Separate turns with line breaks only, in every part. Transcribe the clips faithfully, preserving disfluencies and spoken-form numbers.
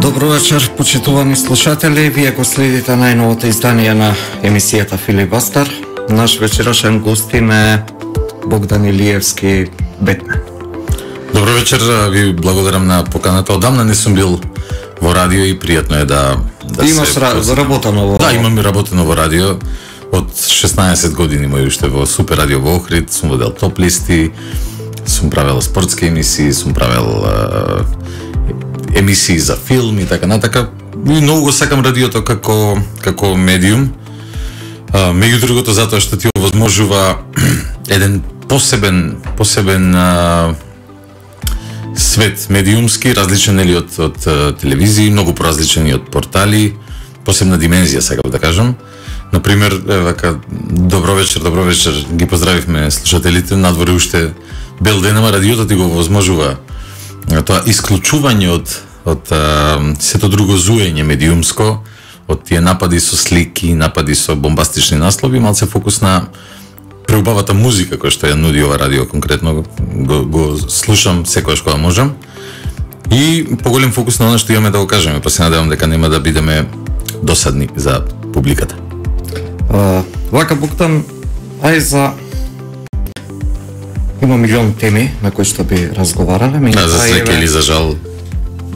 Добро вечер, почитувани слушатели. Вие го следите најновото издание на емисијата Филибастер. Наш вечерашен гостин е Богдан Илиевски, Бетмен.
Добро вечер, ви благодарам на поканата. Одамна не сум бил во радио и пријатно е да да
Имаш
се
ра... работено во...
Да, имам и работено во радио. Од шеснаесет години мој уште во Супер радио во Охрид, сум водел топ листи, сум правел спортски емисии, сум правел а, емисии за филм и така натака. И многу го сакам радиото како како медиум. А, меѓу другото затоа што ти овозможува еден посебен посебен а, свет медиумски, различен нели од од телевизии, многу поразличен и од портали, посебна димензија сакам да кажам. Например, вака добро вечер, добро вечер, ги поздравивме слушателите, надвор уште бел ден, ама радиото ти го овозможува тоа исклучување од од а, сето друго зуење медиумско, од тие напади со слики, напади со бомбастични наслови, малце фокус на преубавата музика која што ја нуди ова радио конкретно, го, го слушам секогаш кога можам. И поголем фокус на она што имаме да го кажеме, па се надевам дека нема да бидеме досадни за публиката.
Uh, вака Богдан, ај за... Има милион теми на кои што би разговарале.
Да, за среќа или за жал,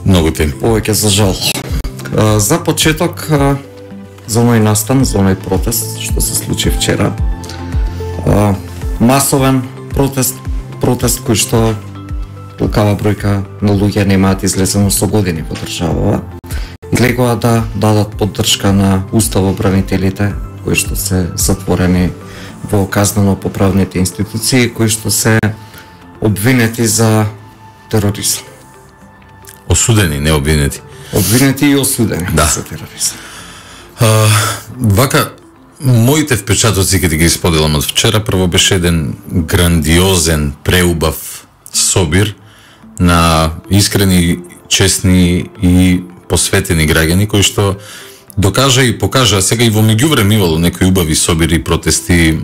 многу теми.
Повеќе за жал. Uh, за почеток, uh, за оној настан, за оној протест што се случи вчера. Uh, масовен протест, протест кој што толкава бројка на луѓе немаат излезено со години во државава. Излегува да дадат поддршка на уставобранителите кои што се затворени во казнено-поправните институции, кои што се обвинети за тероризам.
Осудени, не обвинети.
Обвинети и осудени
да.
за тероризам.
А, вака, моите впечатоци ќе ти ги споделам од вчера. Прво беше еден грандиозен, преубав собир на искрени, честни и посветени граѓани кои што докажа и покажа, сега и во меѓувреме имало некои убави собири, протести,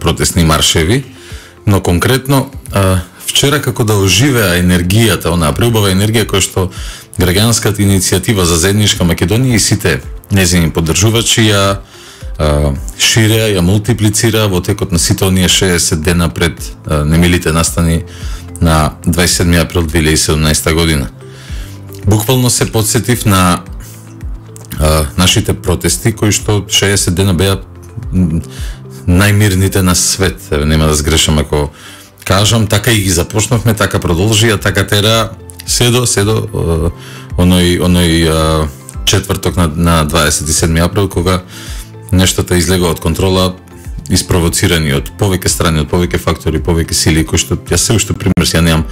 протестни маршеви, но конкретно а, вчера како да оживеа енергијата, онаа преубава енергија која што граѓанската иницијатива за заедничка Македонија и сите нејзини поддржувачи ја а, ширеа, ја мултиплицира во текот на сите оние шеесет дена пред а, немилите настани на дваесет и седми април две илјади и седумнаесета година. Буквално се потсетив на а, нашите протести кои што шеесет дена беа најмирните на свет. Еве, нема да сгрешам ако кажам, така и ги започнавме, така продолжи, а така тера се до се до оној оној а, четврток на, на дваесет и седми април кога нештата излегува од контрола, испровоцирани од повеќе страни, од повеќе фактори, повеќе сили кои што ја се уште пример ја немам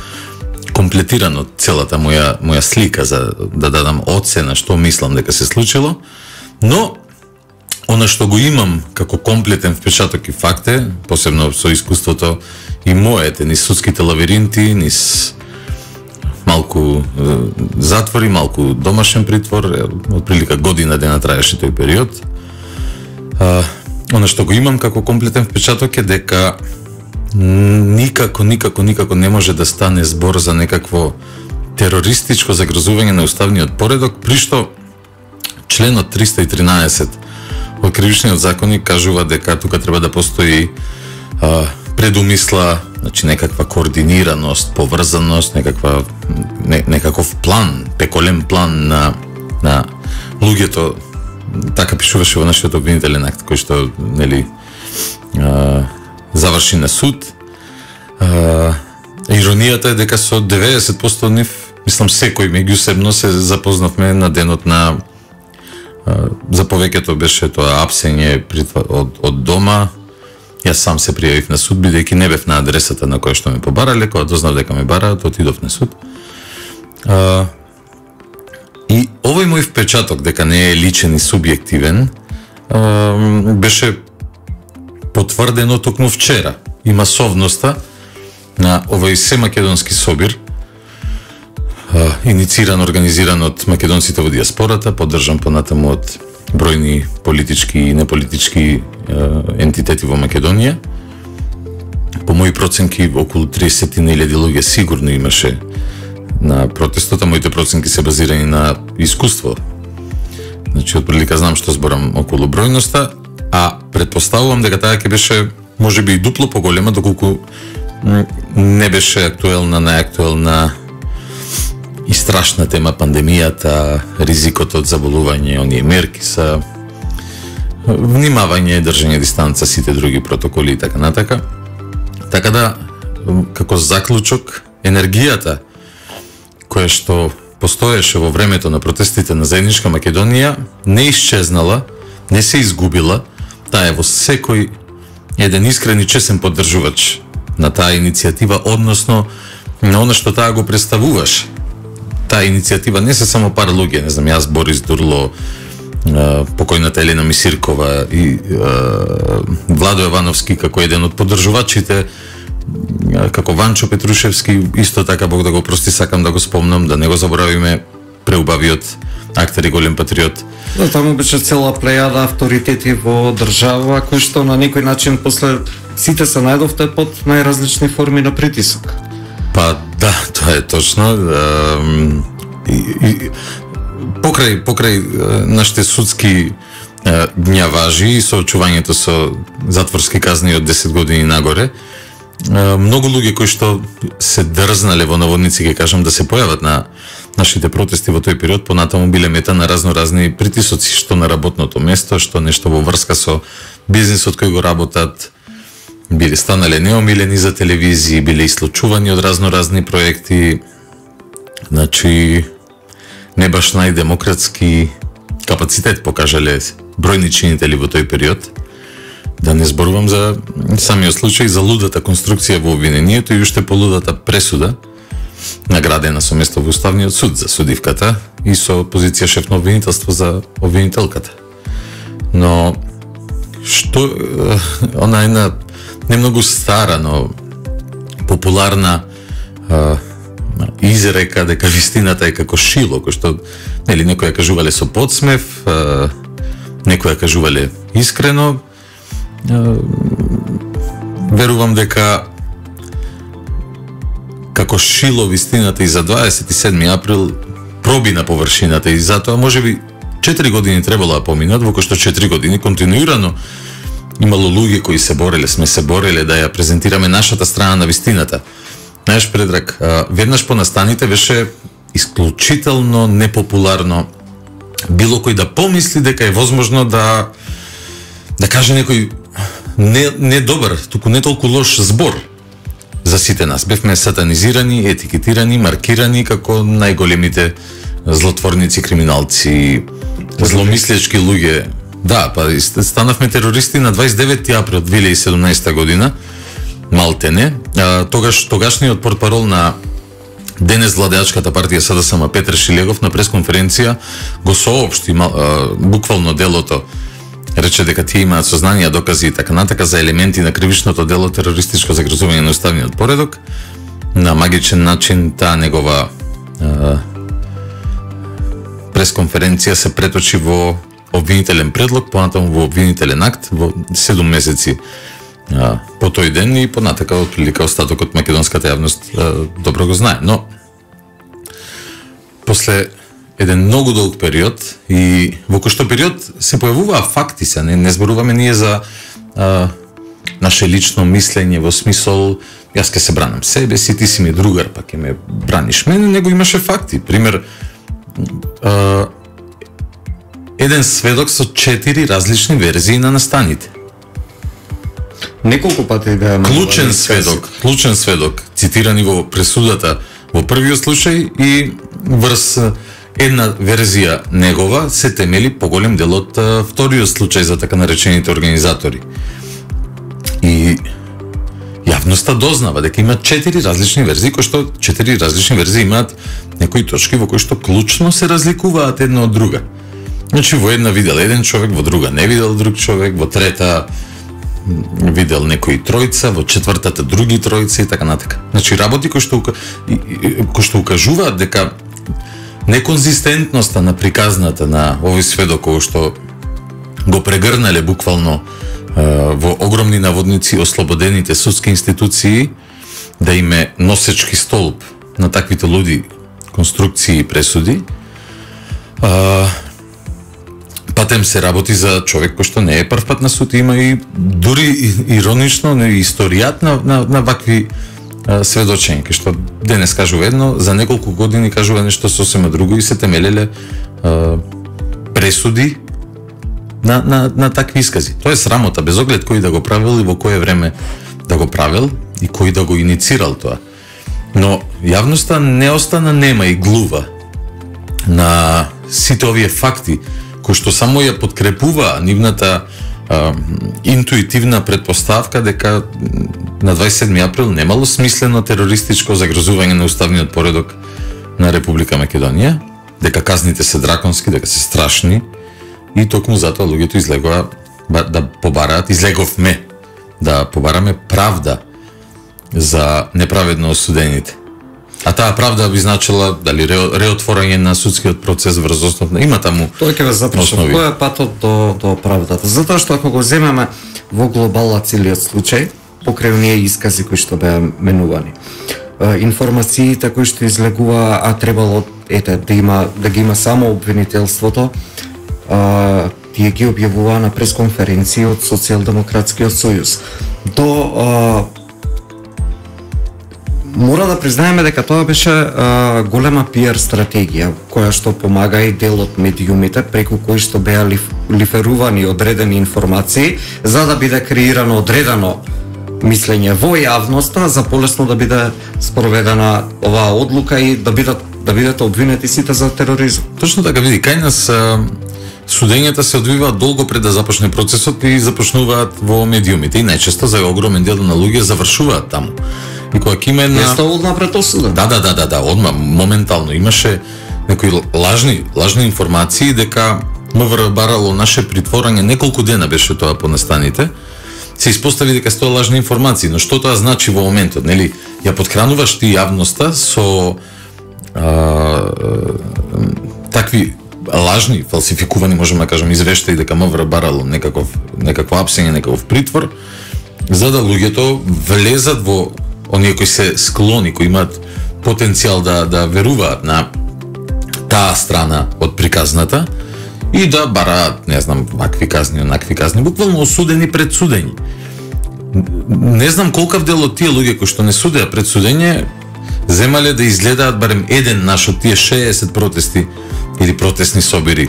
комплетирано целата моја моја слика за да дадам оцена што мислам дека се случило, но она што го имам како комплетен впечаток и факт е, посебно со искуството и моете, низ судските лавиринти, низ малку е, затвори, малку домашен притвор, отприлика година дена траеше тој период. А, она што го имам како комплетен впечаток е дека никако, никако, никако не може да стане збор за некакво терористичко загрозување на уставниот поредок, при што членот триста и тринаесет од кривичниот законник кажува дека тука треба да постои а, предумисла, значи некаква координираност, поврзаност, некаква не, некаков план, пеколен план на на луѓето, така пишуваше во нашиот обвинителен акт кој што нели а, заврши на суд. А, иронијата е дека со деветдесет проценти нив, мислам секој меѓусебно се запознавме на денот на а, за повеќето беше тоа апсење од, од дома. Јас сам се пријавив на суд, бидејќи не бев на адресата на која што ме побарале, кога дознав дека ме бараат, отидов на суд. А, и овој мој впечаток дека не е личен и субјективен а, беше потврдено токму вчера и масовноста на овој семакедонски собир, а, иницииран, организиран од македонците во диаспората, поддржан понатаму од бројни политички и неполитички а, ентитети во Македонија. По мои проценки, околу триесет илјади луѓе сигурно имаше на протестот, а моите проценки се базирани на искуство. Значи, отприлика знам што зборам околу бројноста, а предпоставувам дека таа ќе беше можеби и дупло поголема, доколку не беше актуелна, најактуелна и страшна тема пандемијата, ризикот од заболување, оние мерки са внимавање, држање дистанца, сите други протоколи и така натака. Така да, како заклучок, енергијата која што постоеше во времето на протестите на Заедничка Македонија не исчезнала, не се изгубила, таа е во секој еден искрен и чесен поддржувач на таа иницијатива, односно на она што таа го представуваше. Таа иницијатива не се само пар луѓе, не знам, јас, Борис Дурло, покојната Елена Мисиркова и Владо Јовановски како еден од поддржувачите, како Ванчо Петрушевски, исто така, Бог да го прости, сакам да го спомнам, да не го заборавиме, преубавиот актер и голем патриот.
Да, таму беше цела плејада авторитети во држава, кои што на некој начин после сите се најдовте под најразлични форми на притисок.
Па да, тоа е точно. И, и, покрај покрај нашите судски гњаважи и соочувањето со затворски казни од десет години нагоре, многу луѓе кои што се дрзнале во наводници, ќе кажам, да се појават на нашите протести во тој период, понатаму биле мета на разноразни притисоци, што на работното место, што нешто во врска со бизнисот кој го работат, биле станале неомилени за телевизии, биле ислучувани од разноразни проекти, значи не баш најдемократски капацитет покажале бројни чинители во тој период. Да не зборувам за самиот случај, за лудата конструкција во обвинението и уште полудата пресуда, наградена со место во Уставниот суд за судивката и со позиција шеф на обвинителство за обвинителката. Но што она една не многу стара, но популарна а, изрека дека вистината е како шило, кој што нели некои ја кажувале со подсмев, а, некои ја кажувале искрено. А, верувам дека како шило вистината и за дваесет и седми април проби на површината и затоа можеби четири години требало да поминат, во кои што четири години континуирано имало луѓе кои се бореле, сме се бореле да ја презентираме нашата страна на вистината. Знаеш, Предраг, веднаш по настаните беше исклучително непопуларно било кој да помисли дека е возможно да да каже некој не, не добар, туку не толку лош збор за сите нас. Бевме сатанизирани, етикетирани, маркирани како најголемите злотворници, криминалци, зломислечки луѓе. Да, па станавме терористи на дваесет и деветти април две илјади и седумнаесета година, малтене. А, тогаш тогашниот портпарол на денес владеачката партија СДСМ Петар Шилегов на пресконференција го соопшти а, буквално делото. Рече дека тие имаат сознанија, докази и така натака за елементи на кривичното дело терористичко загрозување на уставниот поредок. На магичен начин таа негова а, пресконференција се преточи во обвинителен предлог, понатаму во обвинителен акт во седум месеци а, по тој ден и понатака отприлика остатокот македонската јавност а, добро го знае. Но после еден многу долг период и во кој што период се појавуваа факти, се не, не зборуваме ние за а, наше лично мислење во смисол јас ке се бранам себе си, ти си ми другар, па ке ме браниш мене, него имаше факти. Пример, а, еден сведок со четири различни верзии на настаните.
Неколку пати да
клучен сведок, клучен сведок, цитирани во пресудата во првиот случај и врз една верзија негова се темели поголем дел од вториот случај за така наречените организатори. И јавноста дознава дека има четири различни верзии, кои што четири различни верзии имаат некои точки во кои што клучно се разликуваат една од друга. Значи во една видел еден човек, во друга не видел друг човек, во трета видел некои тројца, во четвртата други тројца и така натака. Значи работи кои што кои што укажуваат дека неконзистентноста на приказната на овој сведок кој што го прегрнале буквално во огромни наводници ослободените судски институции да име носечки столб на таквите луди конструкции и пресуди. А, Патем се работи за човек кој што не е прв пат на суд, има и дури иронично не, историјат на, на, на вакви а, сведочења, кај што денес кажува едно, за неколку години кажува нешто сосема друго и се темелеле а, пресуди на, на, на такви искази. Тоа е срамота, без оглед кој да го правил и во кое време да го правил и кој да го иницирал тоа. Но јавноста не остана нема и глува на сите овие факти кои што само ја подкрепува нивната а, интуитивна предпоставка дека на дваесет и седми април немало смислено терористичко загрозување на уставниот поредок на Република Македонија, дека казните се драконски, дека се страшни и токму затоа луѓето излегоа да побараат, излеговме да побараме правда за неправедно осудените. А таа правда би значила дали реотворање на судскиот процес врз основ на има таму.
Тој ќе ве запрашам кој е патот до до правдата. Затоа што ако го земеме во глобала целиот случај, покрај оние искази кои што беа менувани, информациите кои што излегува, а требало ете да има да ги има само обвинителството, а, тие ги објавува на пресконференција од Социјалдемократскиот сојуз. До а, мора да признаеме дека тоа беше а, голема пиар стратегија, која што помага и дел од медиумите, преку кои што беа лиф, лиферувани одредени информации, за да биде креирано одредено мислење во јавноста, за полесно да биде спроведена оваа одлука и да бидат да бидете обвинети сите за тероризм.
Точно така, види, кај нас а, судењата се одвиваат долго пред да започне процесот и започнуваат во медиумите и најчесто за огромен дел на луѓе завршуваат таму. И кога ќе има една...
Нешто одма пред осуда.
Да, да, да, да, да, одма, моментално. Имаше некои лажни, лажни информации дека МВР барало наше притворање, неколку дена беше тоа по настаните, се испостави дека се тоа лажни информации, но што тоа значи во моментот, нели? Ја подхрануваш ти јавноста со а, такви лажни, фалсификувани, можеме да кажем, извештаи дека МВР барало некаков, некакво апсење, некаков притвор, за да луѓето влезат во оние кои се склони, кои имаат потенцијал да да веруваат на таа страна од приказната и да бараат, не знам, вакви казни, онакви казни, буквално осудени пред судење. Не знам колкав дел од тие луѓе кои што не судеа пред судење земале да изгледаат барем еден наш од тие шеесет протести или протестни собири.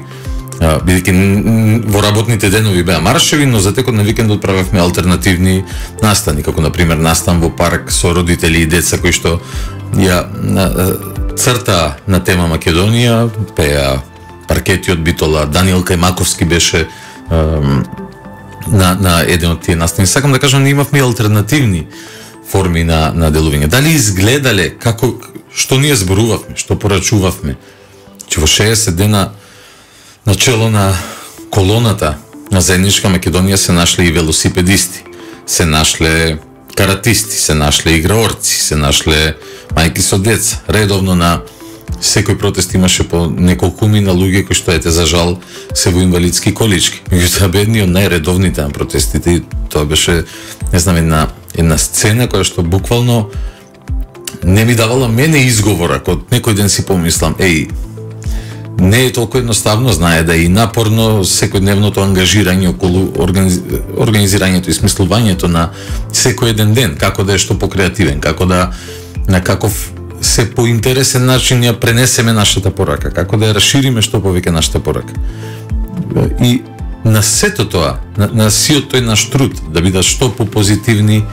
Бидејќи во работните денови беа маршеви, но за текот на викендот правевме алтернативни настани, како на пример настан во парк со родители и деца кои што ја црта на тема Македонија, пеа паркетиот Битола, Даниел Кајмаковски беше на на еден од тие настани. Сакам да кажам, ние имавме алтернативни форми на на делување. Дали изгледале како што ние зборувавме, што порачувавме, че во шеесет дена начело на колоната на Заедничка Македонија се нашле и велосипедисти, се нашле каратисти, се нашле играорци, се нашле мајки со деца. Редовно на секој протест имаше по неколку мина луѓе кои што ете за жал се во инвалидски колички. Меѓутоа бедни од најредовните на протестите и тоа беше, не знам, една една сцена која што буквално не ми давала мене изговора, кога некој ден си помислам, еј, не е толку едноставно, знае да е и напорно секојдневното ангажирање околу организ... организирањето и смислувањето на секој еден ден, како да е што покреативен, како да на каков се поинтересен начин ја пренесеме нашата порака, како да ја расшириме што повеќе нашата порака. И на сето тоа, на, на сиот тој наш труд, да бидат што попозитивни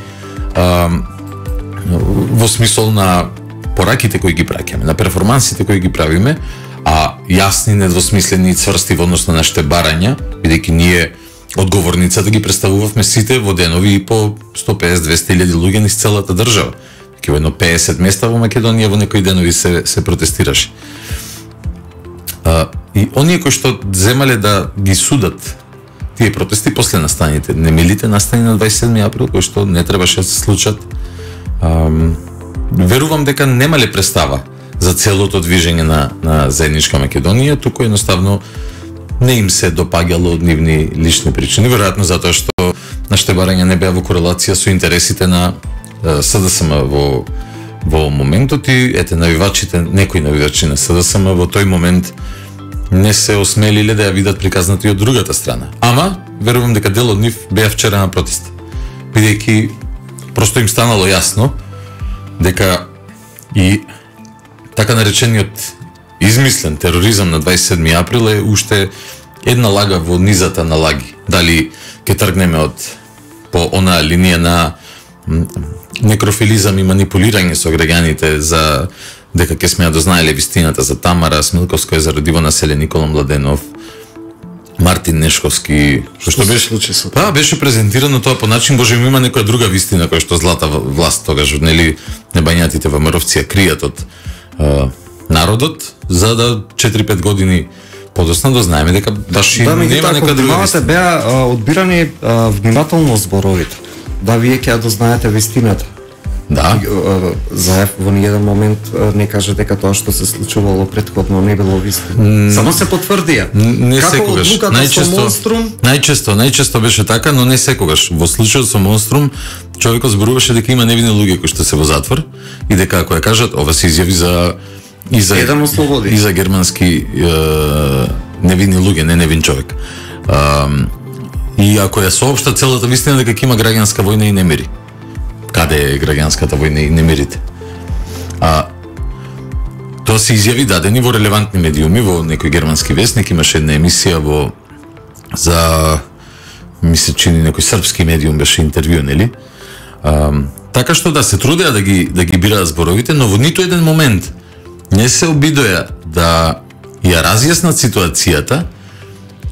а, во смисол на пораките кои ги праќаме, на перформансите кои ги правиме, а јасни, недвосмислени и цврсти во однос на нашите барања, бидејќи ние одговорницата ги представувавме сите во денови и по сто песет до двесте илјади луѓе низ целата држава. Ке во едно песет места во Македонија во некои денови се се протестираше. А, и оние кои што земале да ги судат тие протести после настаните, немилите настани на дваесет и седми април кои што не требаше да се случат, ам, верувам дека немале представа за целото движење на, на Заедничка Македонија, туку едноставно не им се допаѓало од нивни лични причини, веројатно затоа што нашите барања не беа во корелација со интересите на СДСМ во во моментот и ете навивачите, некои навивачи на СДСМ во тој момент не се осмелиле да ја видат приказната и од другата страна. Ама, верувам дека дел од нив беа вчера на протест. Бидејќи просто им станало јасно дека и така наречениот измислен тероризам на дваесет и седми април е уште една лага во низата на лаги. Дали ќе тргнеме од по онаа линија на некрофилизам и манипулирање со граѓаните за дека ќе сме ја дознаеле вистината за Тамара Смилковска, за родиво населе Никола Младенов, Мартин Нешковски,
што, што беше случи со
тоа? Па беше презентирано тоа по начин боже ми има некоја друга вистина која што злата власт тогаш нели небањатите ВМРО-вци ја кријат од а, народот за да четири-пет години подоцна дознаеме дека баш
да,
нема некоја друга
вистина. Беа а, одбирани а, внимателно зборовите. Да, вие ќе ја дознаете вистината.
Да.
Заев во ниеден момент не каже дека тоа што се случувало претходно не било вистина. Mm, Само се потврдија.
Не
Како
секогаш. Најчесто,
Монструм...
најчесто, најчесто беше така, но не секогаш. Во случајот со Монструм, човекот зборуваше дека има невини луѓе кои што се во затвор и дека ако ја кажат, ова се изјави за и за
Еден ослободи.
И за германски е, невини луѓе, не невин човек. А, и ако ја соопшта целата вистина дека ќе има граѓанска војна и немири. Каде е граѓанската војна и немирите? А тоа се изјави дадени во релевантни медиуми, во некој германски весник имаше една емисија во за ми се чини некој српски медиум беше интервју, нели? А, така што да се трудеа да ги да ги бираат зборовите, но во ниту еден момент не се обидоа да ја разјаснат ситуацијата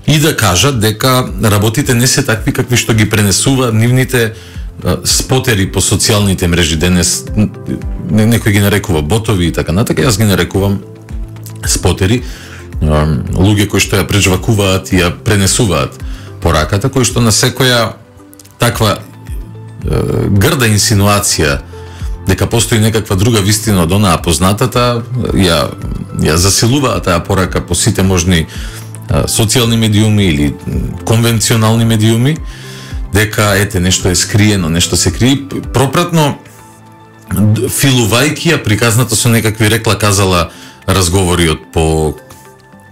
и да кажат дека работите не се такви какви што ги пренесува нивните спотери по социјалните мрежи денес, некој ги нарекува ботови и така натака, јас ги нарекувам спотери, луѓе кои што ја прежвакуваат и ја пренесуваат пораката, кои што на секоја таква грда инсинуација дека постои некаква друга вистина од онаа познатата, ја, ја засилуваат таа порака по сите можни социјални медиуми или конвенционални медиуми, дека ете нешто е скриено, нешто се крие, пропратно филувајќи ја приказната со некакви рекла казала разговори од по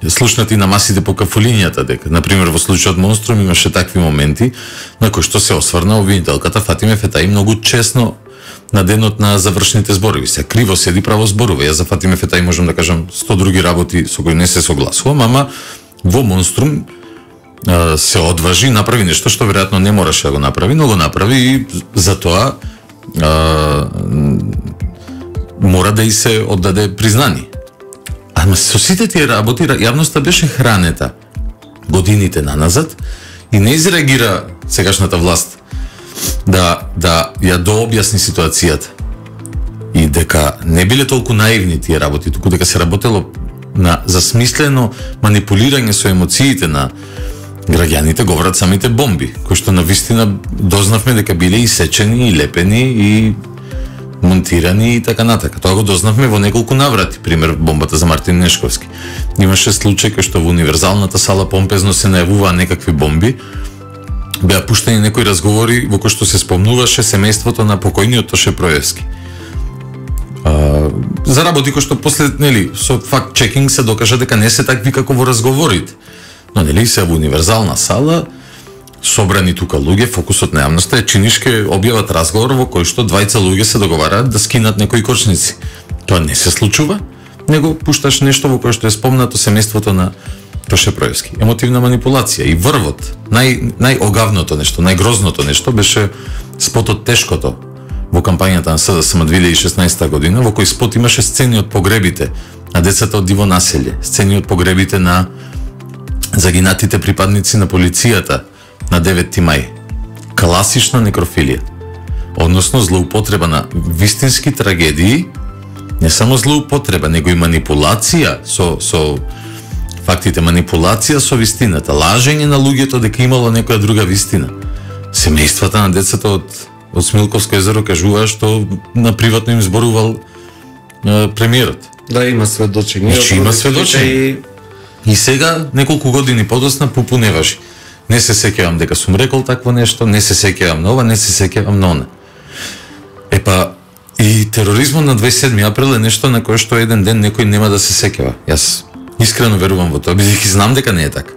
слушнати на масите по кафулињата, дека на пример во случајот Монструм имаше такви моменти на кои што се осврна обвинителката Фатиме Фетаи многу честно на денот на завршните зборови. Се криво седи право зборува. Јас за Фатиме Фетаи можам да кажам сто други работи со кои не се согласувам, ама во Монструм се одважи, направи нешто што веројатно не мораше да го направи, но го направи и за тоа а, мора да и се оддаде признание. Ама со сите тие работи јавноста беше хранета годините наназад и не изреагира сегашната власт да да ја дообјасни ситуацијата и дека не биле толку наивни тие работи, туку дека се работело на засмислено манипулирање со емоциите на граѓаните, говорат самите бомби, кои што на вистина дознавме дека биле исечени и лепени и монтирани и така натака. Тоа го дознавме во неколку наврати, пример бомбата за Мартин Нешковски. Имаше случај кој што во универзалната сала помпезно се најавуваа некакви бомби, беа пуштени некои разговори во кои што се спомнуваше семејството на покојниот Тоше Проевски. А, за работи кои што после, нели, со факт чекинг се докажа дека не се такви како во разговорите. Но нели се во универзална сала собрани тука луѓе, фокусот на јавноста е чинишке објават разговор во кој што двајца луѓе се договараат да скинат некои кочници. Тоа не се случува, него пушташ нешто во кое што е спомнато семејството на Тоше Проевски. Емотивна манипулација и врвот, нај најогавното нешто, најгрозното нешто беше спотот Тешкото во кампањата на СДСМ две илјади и шеснаесета година, во кој спот имаше сцени од погребите на децата од диво населје, сцени од погребите на загинатите припадници на полицијата на деветти мај. Класична некрофилија. Односно злоупотреба на вистински трагедии, не само злоупотреба, него и манипулација со со фактите, манипулација со вистината, лажење на луѓето дека имало некоја друга вистина. Семејствата на децата од од Смилковско езеро кажуваа што на приватно им зборувал е, премиерот.
Да, има сведочење.
Значи има сведочење. И... и сега неколку години подосна пупу не важи. Не се сеќавам дека сум рекол такво нешто, не се сеќавам на ова, не се сеќавам на она. Епа, И тероризмот на дваесет и седми април е нешто на кое што еден ден некој нема да се сеќава. Јас искрено верувам во тоа, бидејќи знам дека не е така.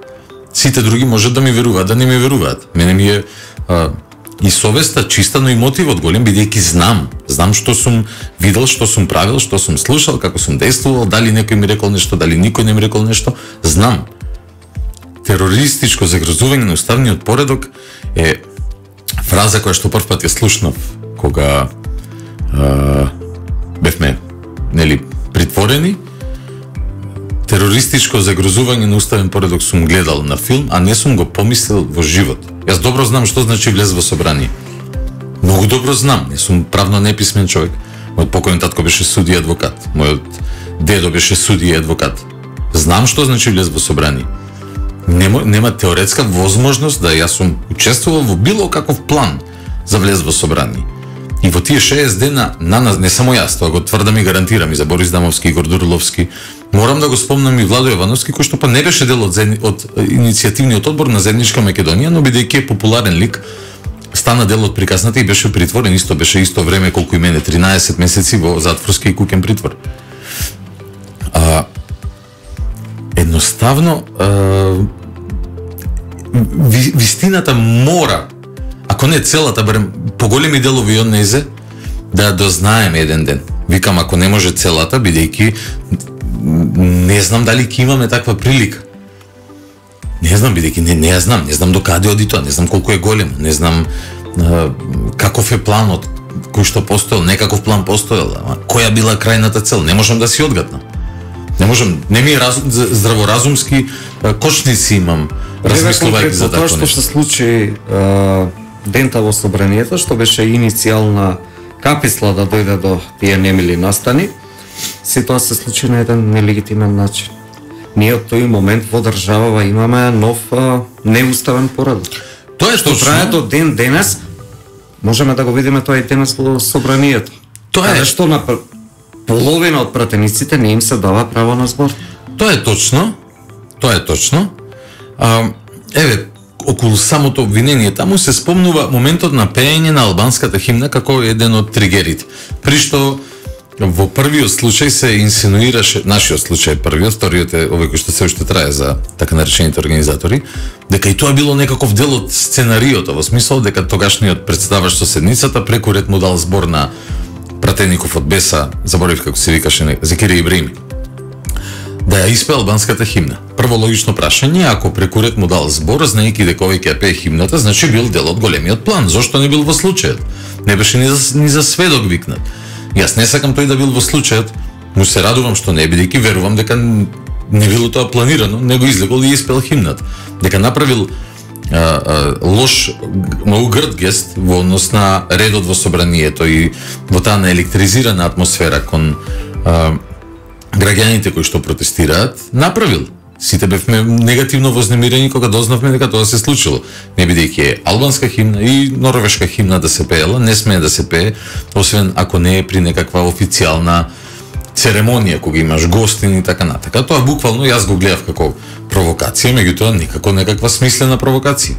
Сите други можат да ми веруваат, да не ми веруваат. Мене ми е а, и совеста чиста, но и мотивот голем, бидејќи знам. Знам што сум видел, што сум правил, што сум слушал, како сум действувал, дали некој ми рекол нешто, дали никој не ми рекол нешто. Знам. Терористичко загрозување на уставниот поредок е фраза која што прв пат ја слушнав кога а, бевме, нели, притворени. Терористичко загрозување на уставен поредок сум гледал на филм, а не сум го помислил во живот. Јас добро знам што значи влез во собрание. Многу добро знам, не сум правно неписмен човек. Мојот покојен татко беше судија и адвокат. Мојот дедо беше судија и адвокат. Знам што значи влез во собрание. Нема, нема теоретска возможност да јас сум учествувал во било каков план за влез во собрание. И во тие шеесет дена на нас, не само јас, тоа го тврдам и гарантирам и за Борис Дамовски, Игор Дурловски, морам да го спомнам и Владо Јовановски, кој што па не беше дел од, од иницијативниот одбор на Заедничка Македонија, но бидејќи е популарен лик, стана дел од приказната и беше притворен, исто беше исто време колку и мене, тринаесет месеци во затворски и куќен притвор. А, едноставно, а, ви, вистината мора, ако не целата, барем поголеми делови од незе, да дознаеме еден ден. Викам, ако не може целата, бидејќи не знам дали ќе имаме таква прилика. Не знам, бидејќи не, не ја знам, не знам до каде оди тоа, не знам колку е големо, не знам а, каков е планот кој што постоел, некаков план постоел, ама која била крајната цел, не можам да си одгатнам. Не можам, не ми е раз, здраворазумски кочници имам, размислувајќи за такво нешто.
Тоа што се случи а, дента во собранието, што беше иницијална каписла да дојде до тие немили настани, се тоа се случи на еден нелегитимен начин. Ние од тој момент во државава имаме нов а, неуставен поредок.
Тоа е
што
точно.
трае до ден денес, можеме да го видиме тоа и денес во собранието.
Тоа е
што на половина од пратениците не им се дава право на збор.
Тоа е точно. Тоа е точно. А, еве, околу самото обвинение таму се спомнува моментот на пеење на албанската химна како еден од тригерите. При што во првиот случај се инсинуираше, нашиот случај првиот, вториот е овој кој што се уште трае за така наречените организатори, дека и тоа било некаков дел од сценариото, во смисол дека тогашниот претседавач со седницата преку ред му дал збор на пратеников од Беса, заборив како се викаше, Зекирија Ибраими, да ја испее албанската химна. Прво логично прашање, ако преку ред му дал збор, знаејќи дека овој ќе ја пее химната, значи бил дел од големиот план. Зошто не бил во случајот? Не беше ни за, ни за сведок викнат. Јас не сакам тој да бил во случајот, му се радувам што не, бидејќи верувам дека не било тоа планирано, него излегол и испел химната. Дека направил а, а, лош, многу грд гест во однос на редот во собранието и во таа наелектризирана атмосфера кон а, граѓаните кои што протестираат, направил. Сите бевме негативно вознемирени кога дознавме дека тоа се случило. Не бидејќи е албанска химна и норвешка химна да се пеела, не смее да се пее, освен ако не е при некаква официјална церемонија, кога имаш гостини и така натака. Тоа буквално јас го гледав како провокација, меѓутоа никако некаква смислена провокација.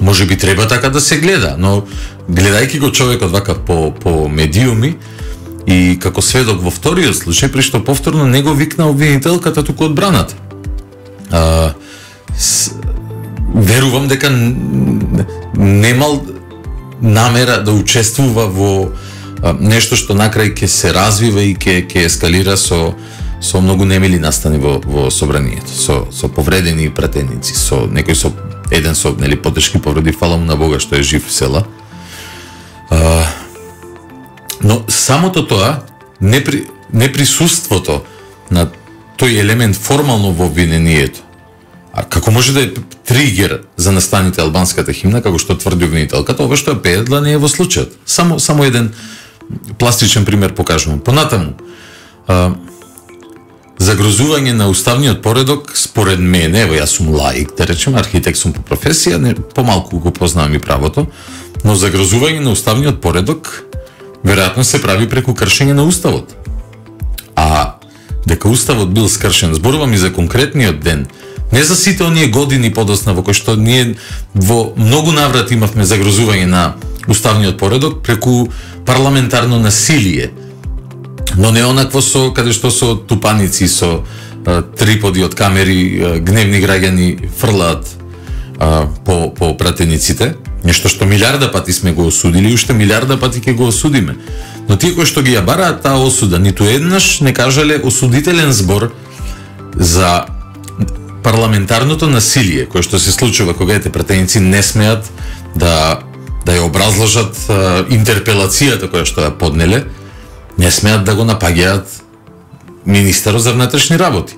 Може би треба така да се гледа, но гледајќи го човекот вака по, по медиуми, и како сведок во вториот случај, при што повторно не го викна обвинителката, туку одбраната. А, с, верувам дека немал намера да учествува во а, нешто што накрај ќе се развива и ќе ќе ескалира со со многу немили настани во во собранието, со со повредени пратеници, со некој со еден со нели потешки повреди, фала му на Бога што е жив села. А, но самото тоа, непри, неприсуството на тој елемент формално во обвинението, а како може да е тригер за настаните албанската химна, како што тврди обвинителката, ова што ја пеедла не е во случајот. Само само еден пластичен пример покажувам. Понатаму, а, загрозување на уставниот поредок, според мене, ево јас сум лаик, да речем, архитект сум по професија, не, помалку го познавам и правото, но загрозување на уставниот поредок веројатно се прави преку кршење на уставот. А дека уставот бил скршен, зборувам и за конкретниот ден, не за сите оние години подосна во кои што ние во многу наврати имавме загрозување на уставниот поредок преку парламентарно насилие. Но не онакво со каде што со тупаници, со а, триподи од камери, а, гневни граѓани фрлаат а, по по пратениците, нешто што милиарда пати сме го осудили и уште милиарда пати ќе го осудиме. Но тие кои што ги ја бараат таа осуда, ниту еднаш не кажале осудителен збор за парламентарното насилие кое што се случува кога ете пратеници не смеат да да ја образложат а, интерпелацијата која што ја поднеле, не смеат да го напаѓаат министерот за внатрешни работи.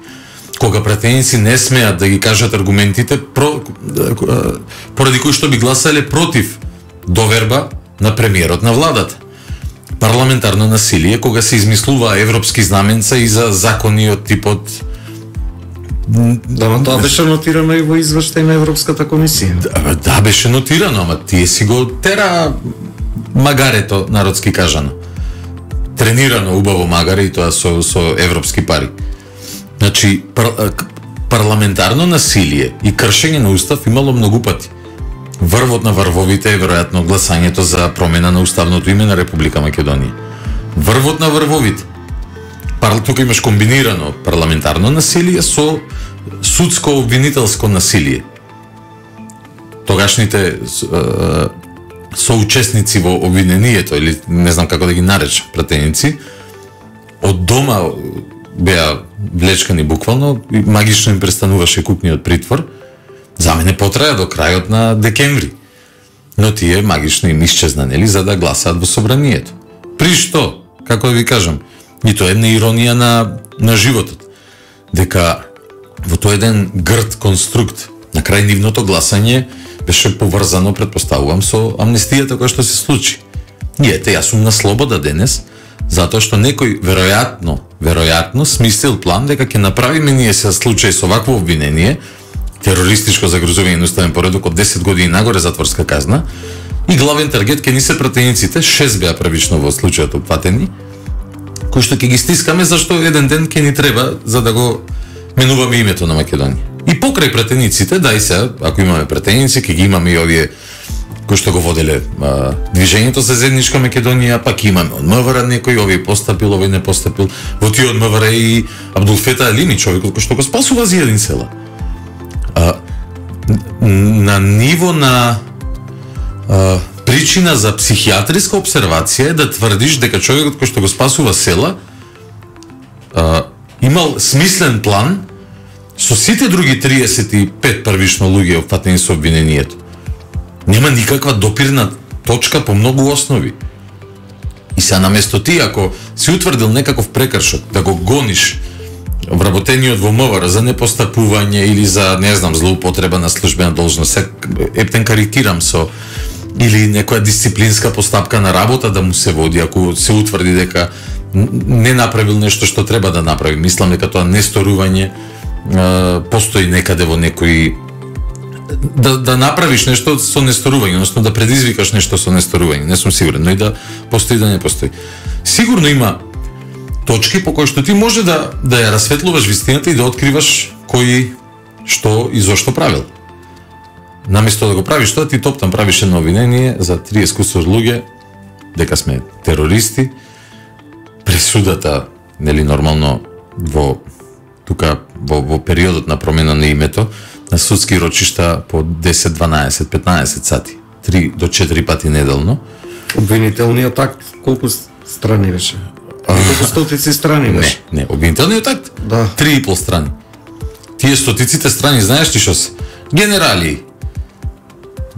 Кога пратеници не смеат да ги кажат аргументите про, поради кои што би гласале против доверба на премиерот на владата. Парламентарно насилие кога се измислува европски знаменца и за закони од типот.
Да, но тоа беше нотирано и во извештај на Европската комисија.
Да, да, беше нотирано, ама тие си го тера магарето, народски кажано. Тренирано убаво магаре и тоа со со европски пари. Значи пар, парламентарно насилие и кршење на устав имало многу пати. Врвот на врвовите е веројатно гласањето за промена на уставното име на Република Македонија. Врвот на врвовите. Пар, тука имаш комбинирано парламентарно насилие со судско обвинителско насилие. Тогашните соучесници во обвинението, или не знам како да ги наречам, пратеници, од дома беа влечкани буквално и магично им престануваше кукниот притвор. За мене потраја до крајот на декември. Но тие магично им исчезнанели за да гласаат во собранието. При што, како да ви кажам, нито една иронија на, на животот. Дека во тој еден грд конструкт, на крај нивното гласање беше поврзано, предпоставувам, со амнестијата која што се случи. И ете, јас сум на слобода денес, затоа што некој веројатно, веројатно смислил план дека ќе направиме ние се случај со вакво обвинение, терористичко загрозување на уставен поредок од десет години нагоре затворска казна, и главен таргет ќе ни се пратениците, шест беа првично во случајот опфатени, кои што ќе ги стискаме зашто еден ден ќе ни треба за да го менуваме името на Македонија. И покрај пратениците, дај се, ако имаме пратеници, ќе ги имаме и овие кои што го воделе а, движењето за заедничка Македонија, пак имаме од МВР некој, овој постапил, овој не постапил. Во тие од МВР и Абдулфета Алими, човекот кој што го спасува Зијадин села. А, на ниво на а, причина за психијатриска обсервација е да тврдиш дека човекот кој што го спасува села а, имал смислен план со сите други триесет и пет првично луѓе опфатени со обвинението. Нема никаква допирна точка по многу основи. И се наместо ти, ако си утврдил некаков прекршок, да го гониш вработениот во МВР за непостапување или за, не знам, злоупотреба на службена должност, ептен карикирам со, или некоја дисциплинска постапка на работа да му се води, ако се утврди дека не направил нешто што треба да направи. Мислам дека тоа несторување постои некаде во некој да да направиш нешто со несторување, односно да предизвикаш нешто со несторување. Не сум сигурен, но и да постои да не постои. Сигурно има точки по кои што ти може да да ја расветлуваш вистината и да откриваш кој што и зошто правил. Наместо да го правиш тоа, ти топтам правиш едно обвинение за триесет кусур луѓе дека сме терористи. Пресудата, нели нормално во тука во, во периодот на промена на името на судски рочишта по десет, дванаесет, петнаесет сати, три до четири пати неделно.
Обвинителниот акт колку страни беше? Колку стотици страни беше?
Не, не, обвинителниот акт
да.
три и пол страни. Тие стотиците страни, знаеш ли што се? Генерали.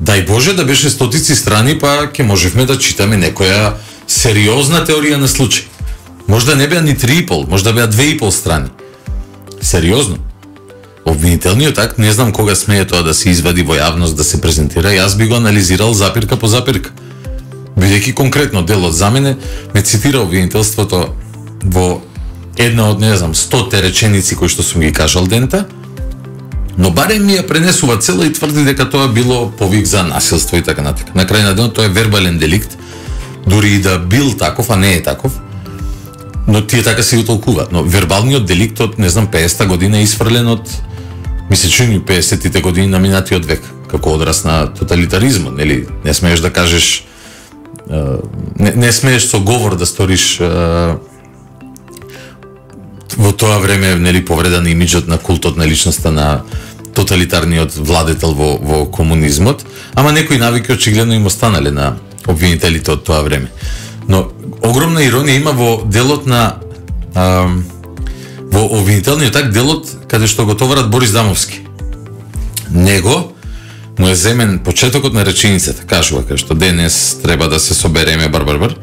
Дај Боже да беше стотици страни, па ќе можевме да читаме некоја сериозна теорија на случај. Можда не беа ни три и пол, можда беа две и пол страни. Сериозно. Обвинителниот акт, не знам кога смее тоа да се извади во јавност, да се презентира, јас би го анализирал запирка по запирка. Бидејќи конкретно делот за мене ме цитира обвинителството во една од, не знам, стоте реченици кои што сум ги кажал дента, но барем ми ја пренесува цела и тврди дека тоа било повик за насилство и така натака. На крај на денот тоа е вербален деликт, дури и да бил таков, а не е таков, но тие така се го толкуваат. Но вербалниот деликт од, не знам, пеесета година е исфрлен од, мисли чуни пеесетите години на минатиот век, како одраз на тоталитаризмот, нели? Не смееш да кажеш не, не смееш со говор да сториш во тоа време, нели, повредан имиджот на култот на личноста на тоталитарниот владетел во, во комунизмот, ама некои навики очигледно им останале на обвинителите од тоа време. Но огромна иронија има во делот на а, во обвинителниот акт, делот каде што го товарат Борис Дамовски. Него му е земен почетокот на реченицата, кажува кај што денес треба да се собереме бар бар бар.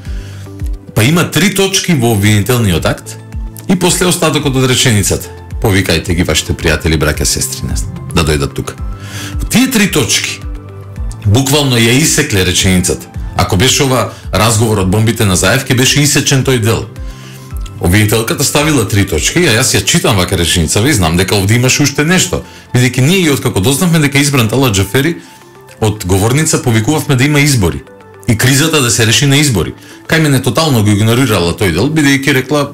Па има три точки во обвинителниот акт и после остатокот од реченицата. Повикајте ги вашите пријатели, браќа, сестри, да дојдат тука. Тие три точки буквално ја исекле реченицата. Ако беше ова разговор од бомбите на Заевки, беше исечен тој дел. Обвинителката ставила три точки, а јас ја читам вака реченица, и знам дека овде имаше уште нешто. Бидејќи ние и откако дознавме дека избран Талат Џафери, од говорница повикувавме да има избори и кризата да се реши на избори. Кај мене тотално го игнорирала тој дел, бидејќи рекла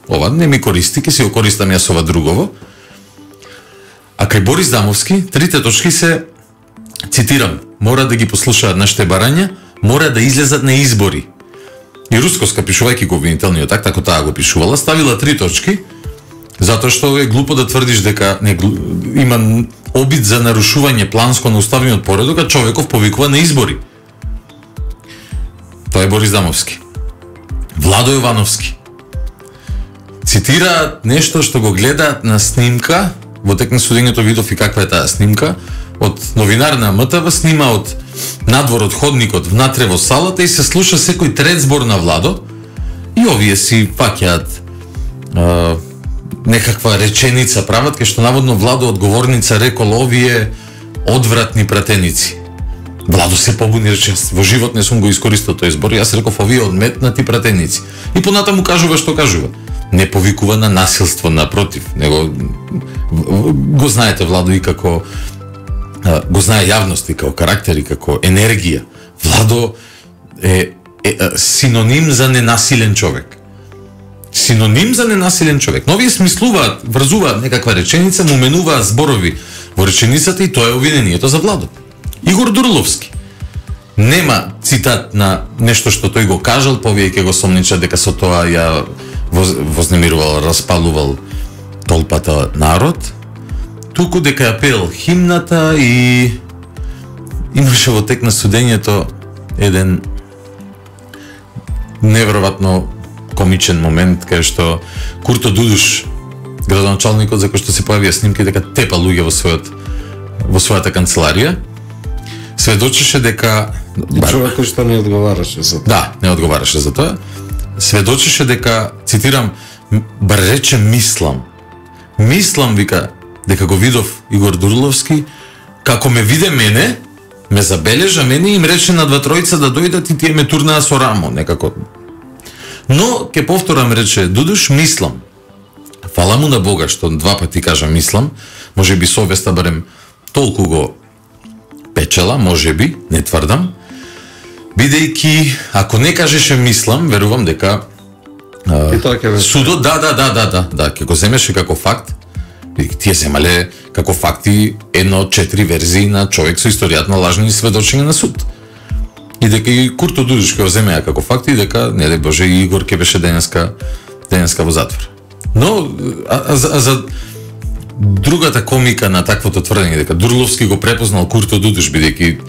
ова не ми користи, ке си го користам јас ова другово. А кај Борис Дамовски, трите точки се, цитирам, мора да ги послушаат нашите барања, мора да излезат на избори. И Рускоска, пишувајќи го обвинителниот акт, ако таа го пишувала, ставила три точки, затоа што е глупо да тврдиш дека не, има обид за нарушување планско на уставниот поредок, а човеков повикува на избори. Тоа е Борис Дамовски. Владо Јовановски цитираат нешто што го гледаат на снимка, во тек на судењето видов и каква е таа снимка, од новинар на М Т В, снима од надвор од ходникот внатре во салата и се слуша секој трет збор на Владо и овие си паќаат е, некаква реченица прават, кај што наводно Владо од говорница рекол овие одвратни пратеници. Владо се побуни, рече, во живот не сум го искористил тој збор, јас реков овие одметнати пратеници. И понатаму кажува што кажува. Не повикува на насилство, напротив, него го знаете Владо и како го знае јавност и како карактер и како енергија. Владо е, е, е синоним за ненасилен човек. Синоним за ненасилен човек. Но овие смислуваат, врзуваат некаква реченица, му менуваат зборови во реченицата и тоа е обвинението за Владо. Игор Дурловски. Нема цитат на нешто што тој го кажал, повеќе го сомнича дека со тоа ја вознемирувал, распалувал толпата народ, туку дека ја пеел химната и имаше во тек на судењето еден неверојатно комичен момент кај што Курто Дудуш, градоначалникот, за кој што се појавија снимки дека тепа луѓе во својот во својата канцеларија, сведочеше дека
човек кој што не одговараше за тоа.
Да, не одговараше за тоа. Сведочеше дека, цитирам, бар рече мислам. Мислам, вика, дека го видов Игор Дурловски, како ме виде мене, ме забележа мене и им рече на два тројца да дојдат и тие ме турнаа со рамо, некако. Но, ке повторам, рече Дудуш, мислам. Фала му на Бога што два пати кажа мислам, може би совеста барем толку го печела, може би, не тврдам, бидејќи ако не кажеше мислам, верувам дека а, судот, да, да, да, да, да, да, ќе го земеше како факт, бидејќи тие земале како факти едно од четири верзии на човек со историјат на лажни сведочења на суд. И дека и Курто Дудуш ќе го земеа како факт и дека, не дај Боже, и Игор ќе беше денеска, денеска во затвор. Но, а, а, а за другата комика на таквото тврдење дека Дурловски го препознал Курто Дудуш, бидејќи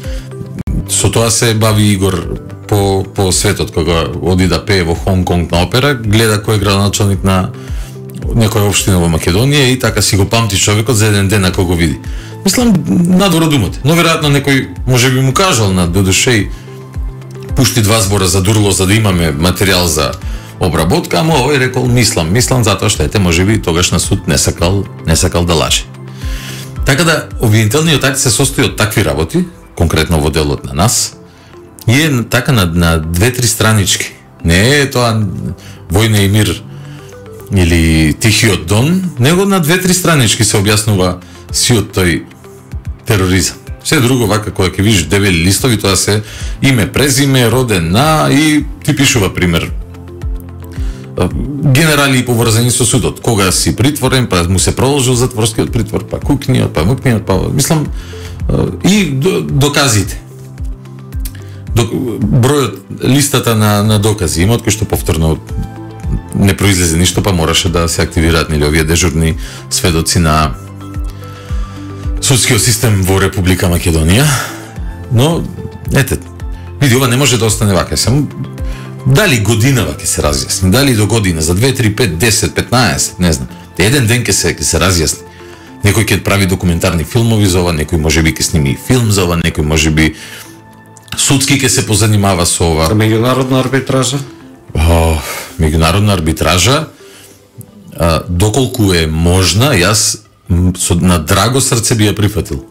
со тоа се бави Игор по, по светот, кога оди да пее во Хонг Конг на опера, гледа кој е градоначалник на некоја општина во Македонија и така си го памти човекот за еден ден ако го види. Мислам, надвор од умот. Но веројатно некој може би му кажал на Дудушеј пушти два збора за Дурло за да имаме материјал за обработка, ама овој рекол мислам, мислам затоа што ете можеби тогаш на суд не сакал, не сакал да лаже. Така да обвинителниот акт се состои од такви работи, конкретно во делот на нас, и е така на, на две-три странички. Не е тоа Војна и мир или Тихиот дон, него на две-три странички се објаснува сиот тој тероризам. Се друго вака кога ќе видиш дебели листови, тоа се име, презиме, роден на и ти пишува пример генерали поврзани со судот. Кога си притворен, па му се продолжил затворскиот притвор, па кукниот, па мукниот, па мислам и доказите. бројот, листата на, на докази има, од кој што повторно не произлезе ништо, па мораше да се активираат нели овие дежурни сведоци на судскиот систем во Република Македонија. Но, ете, види, ова не може да остане вака. Само дали годинава ќе се разјасни, дали до година, за две, три, пет, десет, петнаесет, не знам. Еден ден ќе се ќе се разјасни. Некој ќе прави документарни филмови за ова, некој можеби ќе сними филм за ова, некој можеби судски ќе се позанимава со ова.
Меѓународна арбитража?
О, меѓународна арбитража, а, доколку е можна, јас со на драго срце би ја прифатил.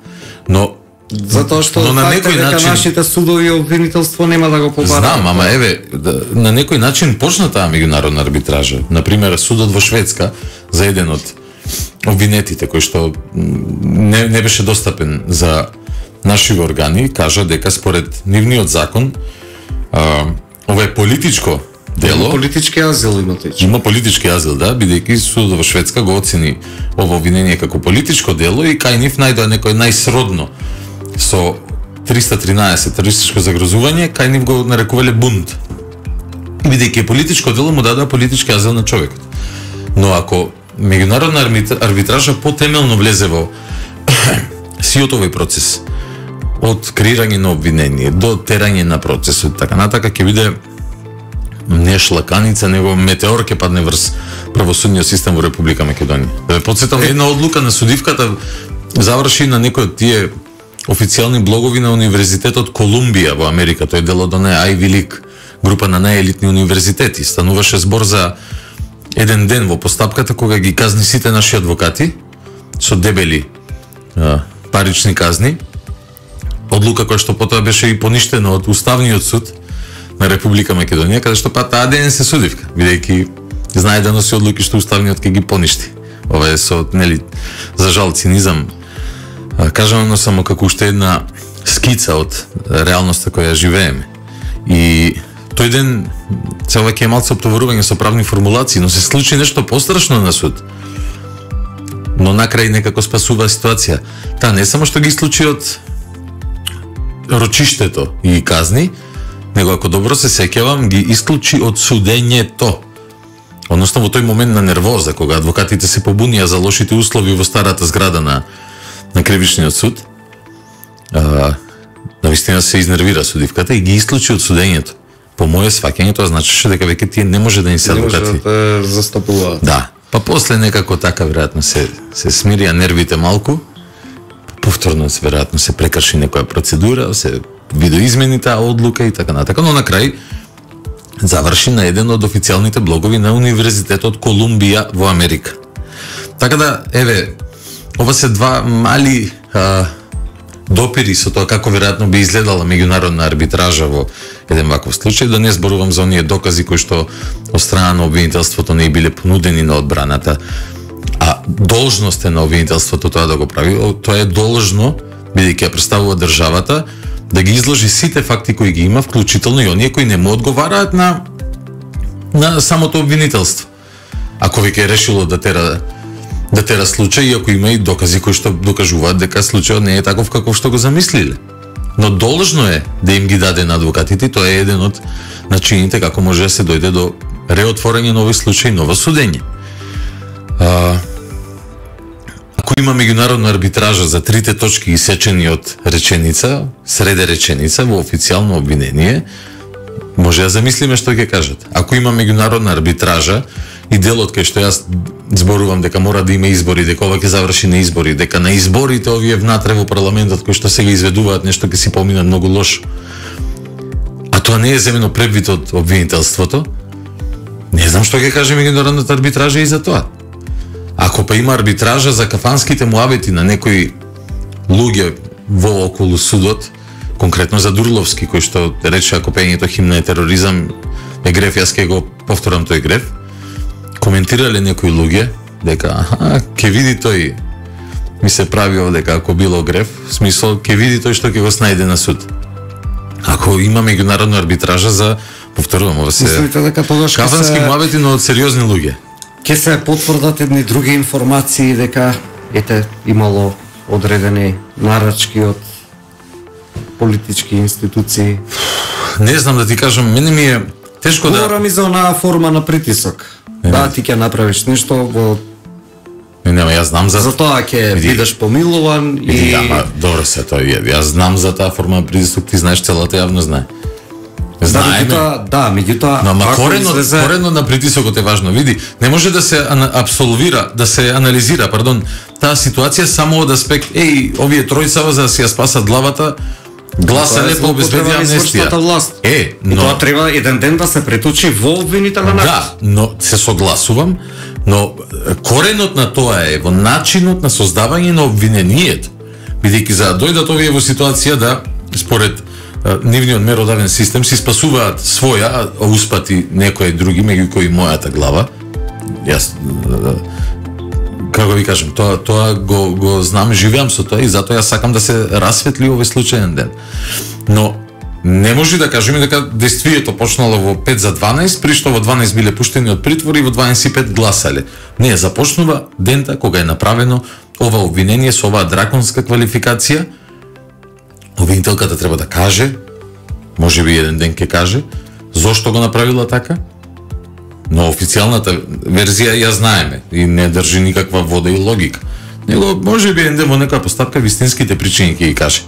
Но
затоа што
но на некој начин
нашите судови обвинителство нема да го побараат.
Знам, ама еве, да, на некој начин почна таа меѓународна арбитража. Например, судот во Шведска за еден од обвинетите кој што не, не беше достапен за нашиве органи, кажа дека според нивниот закон а, ова е политичко дело.
Политички азил има тој.
Има политички азил, да, бидејќи судот во Шведска го оцени ова обвинение како политичко дело и кај нив најдоа некој најсродно со триста тринаесет терористичко загрозување, кај нив го нарекувале бунт. Бидејќи е политичко дело, му дадоа политички азил на човекот. Но ако меѓународна арбитража потемелно влезе во сиот овој процес, од креирање на обвинение до терање на процесот, така натака ќе биде не шлаканица, него метеор ќе падне врз правосудниот систем во Република Македонија. Да ве потсетам, една одлука на судивката заврши на некој од тие официјални блогови на Универзитетот Колумбија во Америка. Тој дел од онаа Айви Лиг, група на најелитни универзитети. Стануваше збор за еден ден во постапката кога ги казни сите наши адвокати со дебели а, парични казни. Одлука која што потоа беше и поништена од Уставниот суд на Република Македонија, каде што па таа ден се судивка, бидејќи знае да носи одлуки што Уставниот ќе ги поништи. Ова е со, нели, за жал цинизам кажано само како уште една скица од реалноста која живееме. И тој ден се ова ќе е малце оптоварување со правни формулации, но се случи нешто пострашно на суд. Но накрај некако спасува ситуација. Та не само што ги случи од рочиштето и казни, него ако добро се сеќавам, ги исклучи од судењето. Односно во тој момент на нервоза, кога адвокатите се побунија за лошите услови во старата зграда на на кривичниот суд, а, навистина се изнервира судивката и ги исклучи од судењето. По моје сваќање тоа значеше дека веќе тие не може да ни се адвокати.
Не може да застапуваат.
Да. Па после некако така веројатно се се смирија нервите малку. Повторно се веројатно се прекрши некоја процедура, се видоизмени таа одлука и така натака, но на крај заврши на еден од официјалните блогови на Универзитетот Колумбија во Америка. Така да, еве, ова се два мали а, допири со тоа како веројатно би изгледала меѓународна арбитража во еден ваков случај, да не зборувам за оние докази кои што од страна на обвинителството не биле понудени на одбраната, а должност е на обвинителството тоа да го прави. Тоа е должно, бидејќи ја представува државата, да ги изложи сите факти кои ги има, вклучително и оние кои не му одговараат на на самото обвинителство. Ако веќе е решило да тера да тера случај, ако има и докази кои што докажуваат дека случајот не е таков каков што го замислиле. Но должно е да им ги даде на адвокатите, тоа е еден од начините како може да се дојде до реотворање на овој случај, ново судење. А, ако има меѓународна арбитража за трите точки исечени од реченица, среде реченица во официјално обвинение, може да замислиме што ќе кажат. Ако има меѓународна арбитража и делот кај што јас зборувам дека мора да има избори, дека ова ќе заврши на избори, дека на изборите овие внатре во парламентот кои што сега изведуваат нешто ќе си помина многу лошо, а тоа не е земено предвид од обвинителството, не знам што ќе каже меѓународната арбитража и за тоа. Ако па има арбитража за кафанските муабети на некои луѓе во околу судот, конкретно за Дурловски, кој што рече ако пењето химна е тероризам, е греф, јас ќе го повторам тој греф, коментирале некои луѓе дека аха, ќе види тој, ми се прави дека ако било греф, в смисол ќе види тој што ќе го снајде на суд. Ако има меѓународна арбитража за, повторувам, ова се
мислите дека тогаш
кафански
се...
муабети, но од сериозни луѓе.
Ќе се потврдат едни други информации дека ете имало одредени нарачки од политички институции.
не знам да ти кажам, мене ми е тешко да...
Говорам и за онаа форма на притисок. Не, да, ти ќе направиш нешто во...
Не, нема, јас знам за...
За тоа ќе бидеш помилуван и...
и... Ама, добро се тоа, јас знам за таа форма на притисок, ти знаеш, целата јавно знае. Знаеме.
Да, да, меѓутоа,
но ама корено, излезе... корено на притисокот е важно. Види, не може да се абсолвира, да се анализира, пардон, таа ситуација само од аспект, еј, овие тројцава за да си ја спасат главата, гласале по обезбедија амнестија. Е, но...
И тоа треба еден ден да се преточи во обвинителен акт.
Да, но се согласувам, но коренот на тоа е во начинот на создавање на обвинението. Бидејќи за да дојдат овие во ситуација да, според нивниот меродавен систем, си спасуваат своја, а успати некои други, меѓу кои мојата глава. Јас, како ви кажам, тоа тоа го го знам, живеам со тоа и затоа јас сакам да се расветли овој случајен ден. Но не може да кажеме дека действието почнало во пет за дванаесет, при што во дванаесет биле пуштени од притвор и во дванаесет и пет гласале. Не, започнува дента кога е направено ова обвинение со оваа драконска квалификација. Обвинителката треба да каже, може би еден ден ќе каже, зошто го направила така, но официјалната верзија ја знаеме и не држи никаква вода и логика. Него може би еден ден во некоја постапка вистинските причини ќе ги каже.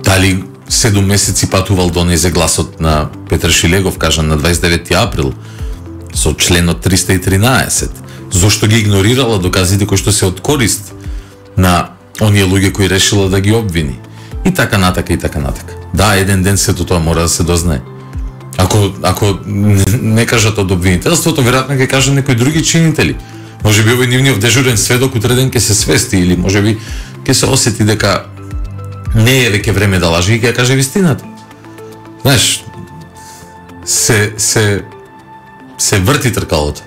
Дали седум месеци патувал донезе гласот на Петар Шилегов, кажан на дваесет и деветти април, со членот триста и тринаесет, зошто ги игнорирала доказите кои што се од корист на оние луѓе кои решила да ги обвини. И така натака, и така натака. Да, еден ден сето тоа мора да се дознае. Ако, ако не кажат од обвинителството, веројатно ќе кажат некои други чинители. Може би овој нивниот дежурен сведок утре ден ќе се свести, или може би ќе се осети дека не е веќе време да лаже и ќе каже вистината. Знаеш, се, се, се врти тркалото.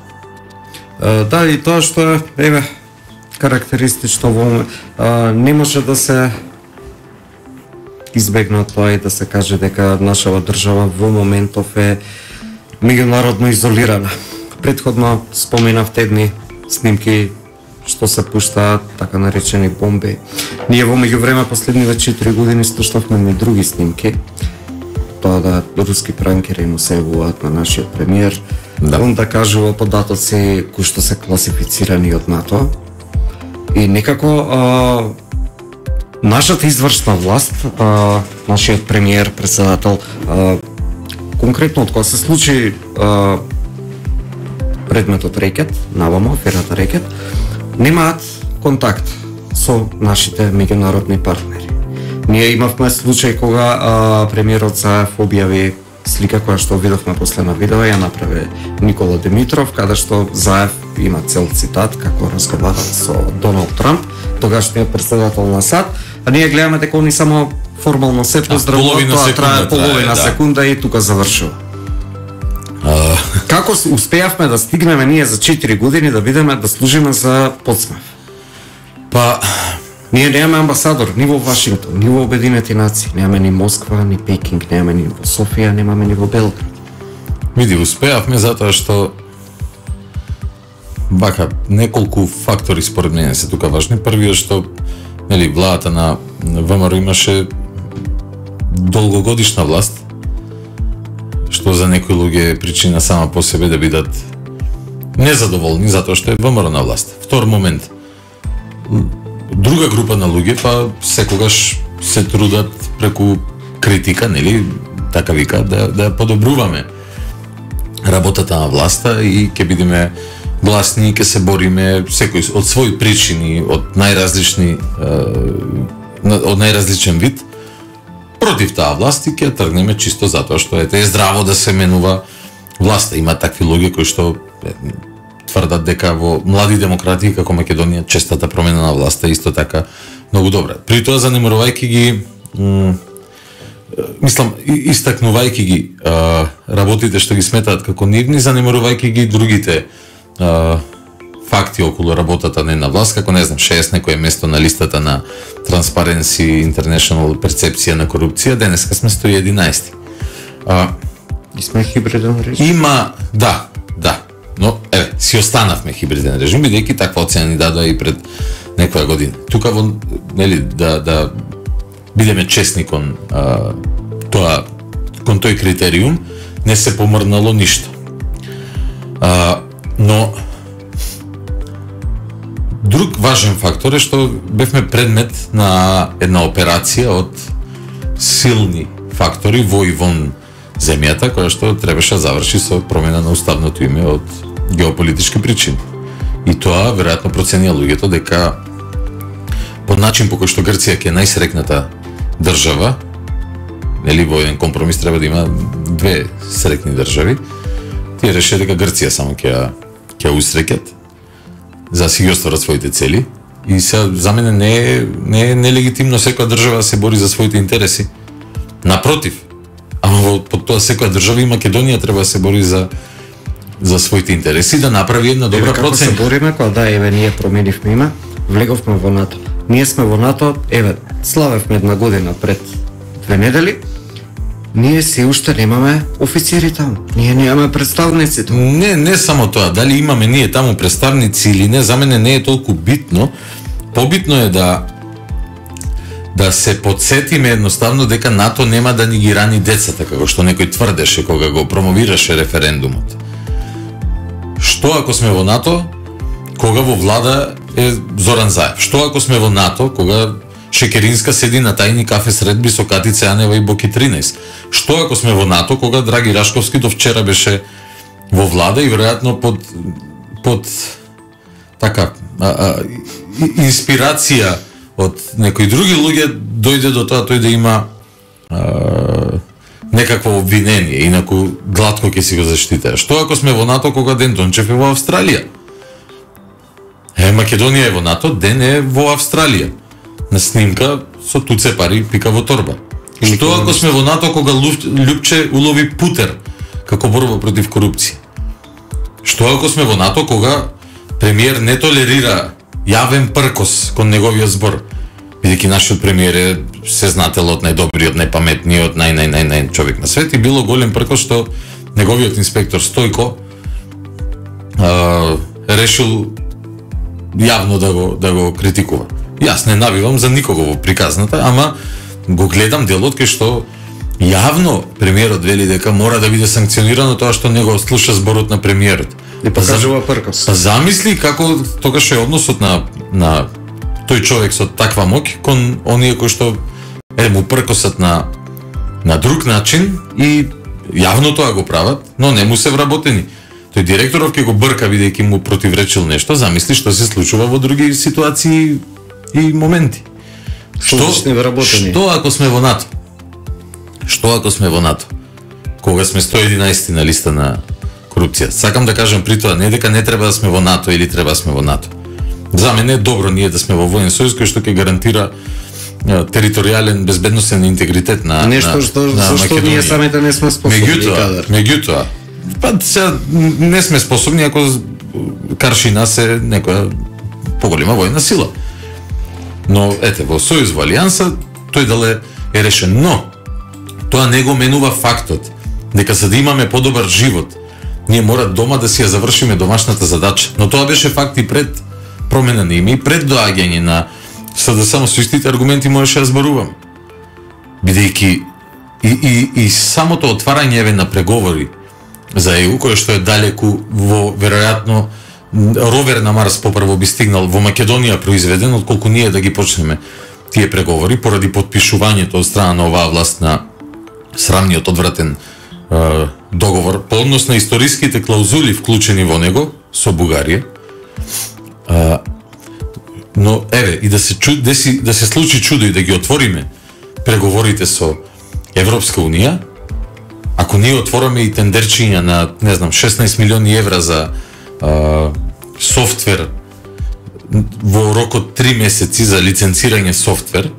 Да, и тоа што е, еве, карактеристично во не може да се избегна тоа и да се каже дека нашава држава во моментов е меѓународно изолирана. Предходно споменавте едни снимки што се пуштаат, така наречени бомби. Ние во меѓувреме последниве четири години слушнавме и други снимки. Тоа да руски пранкери му се јавуваат на нашиот премиер. Да. Он да кажува податоци кои што се класифицирани од НАТО. И некако а, нашата извршна власт, а, нашиот премиер, председател, а, конкретно од кога се случи а, предметот рекет, навамо, аферата рекет, немаат контакт со нашите меѓународни партнери. Ние имавме случај кога а, премиерот Заев објави слика која што видовме после на видео, ја направи Никола Димитров, каде што Заев има цел цитат како разговарал со Доналд Трамп, тогашниот председател на САД, а ние гледаме дека они само формално се поздравуваат, тоа трае половина да. секунда и тука завршува. Uh... Како успеавме да стигнеме ние за четири години да бидеме да служиме за подсмев?
Па
ние немаме амбасадор ни во Вашингтон, ни во Обединети нации, немаме ни Москва, ни Пекинг, немаме ни во Софија, немаме ни во Белград.
Види, успеавме затоа што бака неколку фактори според мене се тука важни. Првиот што нели владата на ВМРО имаше долгогодишна власт, што за некои луѓе е причина сама по себе да бидат незадоволни затоа што е ВМРО на власт. Втор момент, друга група на луѓе па секогаш се трудат преку критика, нели, така вика, да да подобруваме работата на власта и ќе бидеме гласни, ќе се бориме секој од своји причини, од најразлични од најразличен вид против таа власт и ќе тргнеме чисто затоа што ете е здраво да се менува власта. Има такви луѓе кои што тврдат дека во млади демократии како Македонија честата промена на власта е исто така многу добра. При тоа занемарувајќи ги мислам истакнувајќи ги а, работите што ги сметаат како нивни, занемарувајќи ги другите а, факти околу работата на една власт, како не знам, шеесет некое место на листата на Transparency International перцепција на корупција, денеска сме сто и единаесети. А,
и сме хибриден режим.
Има, да, да. Но, еве, си останавме хибриден режим, бидејќи таква оцена ни дадоа и пред некоја година. Тука во, нели, да, да бидеме честни кон а, тоа кон тој критериум не се помрнало ништо. А, но друг важен фактор е што бевме предмет на една операција од силни фактори во и вон земјата, која што требаше да заврши со промена на уставното име од геополитички причини. И тоа веројатно проценија луѓето дека по начин по кој што Грција ќе е најсрекната држава, нели во еден компромис треба да има две срекни држави, тие реше дека Грција само ќе ќе усрекат за да си ги остварат своите цели. И сега за мене не е не е нелегитимно секоја држава да се бори за своите интереси. Напротив, ама под тоа секоја држава и Македонија треба да се бори за за своите интереси, да направи една добра проценка.
Како се бориме кога да еве ние променивме име, влеговме во НАТО. Ние сме во НАТО, еве, славевме една година пред две недели. Ние си уште немаме офицери таму. Ние немаме представници таму.
Не, не само тоа, дали имаме ние таму представници или не, за мене не е толку битно. Побитно е да да се подсетиме едноставно дека НАТО нема да ни ги рани децата, како што некој тврдеше кога го промовираше референдумот. Што ако сме во НАТО, кога во влада е Зоран Заев? Што ако сме во НАТО, кога Шекеринска седи на тајни кафе средби со Катица Јанева и Боки тринаесет? Што ако сме во НАТО, кога Драги Рашковски до вчера беше во влада и веројатно под под така а, а, инспирација од некои други луѓе дојде до тоа тој да има а, некакво обвинение, инаку глатко ќе си го заштитае. Што ако сме во НАТО кога Ден Дончев е во Австралија? Е, Македонија е во НАТО, Ден е во Австралија. На снимка со туце пари пика во торба. И што ако сме во НАТО кога Лјупче улови путер како борба против корупција? Што ако сме во НАТО кога премиер не толерира јавен пркос кон неговиот збор? Бидејќи нашиот премиер е сезнателот, најдобриот, најпаметниот, нај нај нај нај човек на свет, и било голем пркос што неговиот инспектор Стојко а, решил јавно да го да го критикува. Јас не навивам за никого во приказната, ама го гледам делот кај што јавно премиерот вели дека мора да биде санкционирано тоа што не го слуша зборот на премиерот.
И покажува пркос.
Па замисли како тогаш е односот на на тој човек со таква моќ кон оние кои што е му пркосат на на друг начин и јавно тоа го прават, но не му се вработени. Тој директоров ќе го брка бидејќи му противречил нешто, замисли што се случува во други ситуации и моменти. Што што ако сме во НАТО? Што ако сме во НАТО? Кога сме сто и единаесети на листа на корупција. Сакам да кажам при тоа не дека не треба да сме во НАТО или треба да сме во НАТО. За мене е добро ние да сме во воен сојуз кој што ќе гарантира територијален безбедносен интегритет на
нешто
на,
што
на
зашто ние самите не сме способни.
Меѓутоа, меѓутоа, па сега не сме способни ако карши нас е некоја поголема војна сила. Но ете во сојуз во алијанса тој дал е решен, но тоа не го менува фактот дека за да имаме подобар живот ние мора дома да си ја завршиме домашната задача. Но тоа беше факт и пред промена на име и пред доаѓање на за да само со истите аргументи можеше да зборувам. Бидејќи и, и, и самото отварање еве на преговори за Е У, кое што е далеку во веројатно ровер на Марс попрво би стигнал во Македонија произведен, отколку ние да ги почнеме тие преговори поради подпишувањето од страна на оваа власт на срамниот одвратен е, договор по однос на историските клаузули вклучени во него со Бугарија. Е, но еве и да се чу, да, си, да се случи чудо и да ги отвориме преговорите со Европска унија, ако ние отвораме и тендерчиња на не знам шеснаесет милиони евра за а, софтвер во рок од три месеци за лиценцирање софтвер,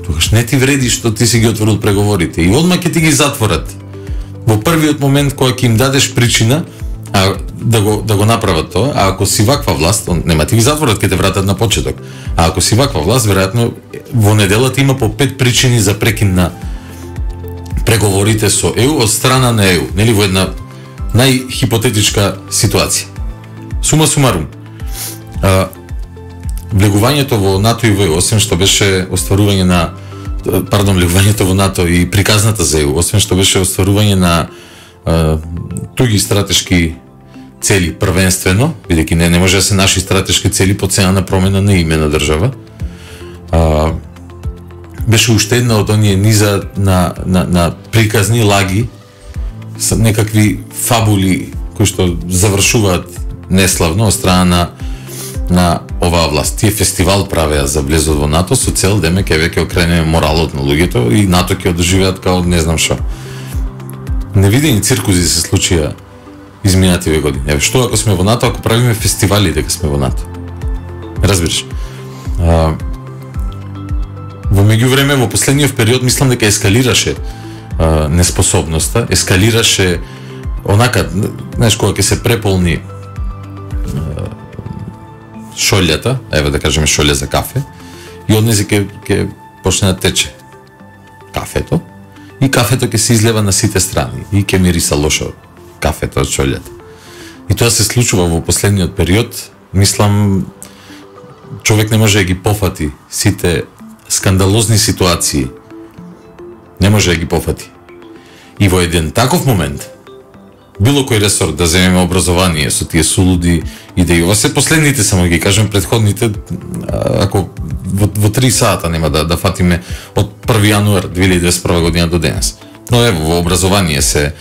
тогаш не ти вреди што ти си ги отворил преговорите и одма ќе ти ги затворат во првиот момент кога ќе им дадеш причина а, да го да го направат тоа. А ако си ваква власт, нема ти ги затворат, ќе те вратат на почеток. А ако си ваква власт, веројатно во неделата има по пет причини за прекин на преговорите со Е У од страна на Е У, нели во една најхипотетичка ситуација. Сума сумарум, а, влегувањето во НАТО и во Е У, освен што беше остварување на пардон, влегувањето во НАТО и приказната за ЕУ, освен што беше остварување на а, туги стратешки цели првенствено, бидејќи не, не може да се наши стратешки цели по цена на промена на име на држава, а, беше уште една од оние низа на, на, на приказни лаги, со некакви фабули кои што завршуваат неславно од страна на на оваа власт. Тие фестивал правеа за влезот во НАТО со цел да ме ќе веќе окренеме моралот на луѓето и НАТО ќе одржуваат као не знам што. Невидени циркузи се случија изминативе години. Еве што ако сме во НАТО, ако правиме фестивали дека сме во НАТО. Разбираш? А, во меѓувреме во последниот период мислам дека ескалираше а, неспособноста, ескалираше онака, знаеш, кога ќе се преполни а, шолјата, еве да кажеме шолја за кафе, и однези ќе ќе почне да тече кафето, и кафето ќе се излева на сите страни, и ќе мириса лошо кафето од шолјата. И тоа се случува во последниот период, мислам, човек не може да ги пофати сите скандалозни ситуации, не може да ги пофати. И во еден таков момент, било кој ресор да земеме образование со тие сулуди идеи, ова се последните, само ги кажем, предходните, ако во, во три сата нема да, да фатиме од први јануар две илјади дваесет и прва година до денес. Но ево, во образование се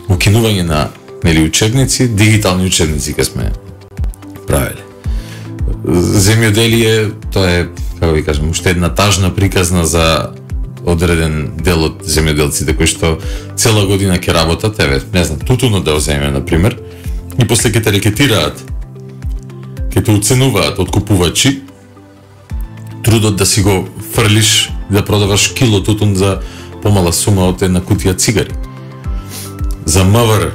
укинување на нели учебници, дигитални учебници ке сме правеле. Земјоделие, тоа е, како ви кажам, уште една тажна приказна за одреден дел од земјоделците кои што цела година ќе работат, еве, не знам, тутунот да земеме на пример, и после ќе те рекетираат, ќе те уценуваат откупувачи, трудот да си го фрлиш, да продаваш кило тутун за помала сума од една кутија цигари. За МВР,